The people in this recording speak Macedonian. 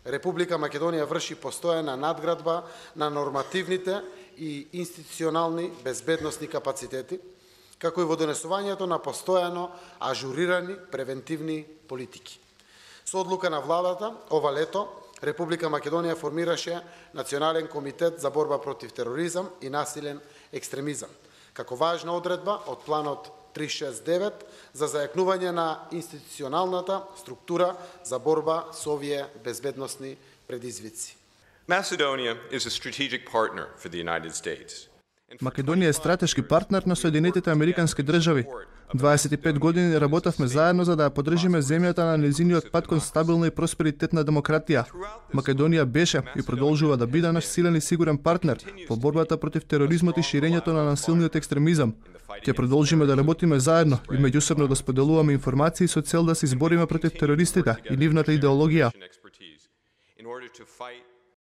Република Македонија врши постојана надградба на нормативните и институционални безбедносни капацитети, како и во донесувањето на постојано ажурирани превентивни политики. Со одлука на владата, ова лето, Република Македонија формираше Национален комитет за борба против тероризам и насилен екстремизам, како важна одредба од планот 369 за зајакнување на институционалната структура за борба со овие безбедносни предизвици. Macedonia is a strategic partner for the United States. Македонија е стратешки партнер на Соединетите Американски држави. 25 години работевме заедно за да ја поддржиме земјата на незиниот пат кон стабилна и просперитетна демократија. Македонија беше и продолжува да биде наш силен и сигурен партнер во борбата против тероризмот и ширењето на насилниот екстремизам. Ќе продолжиме да работиме заедно и меѓусебно да споделуваме информации со цел да се избориме против терористите и нивната идеологија.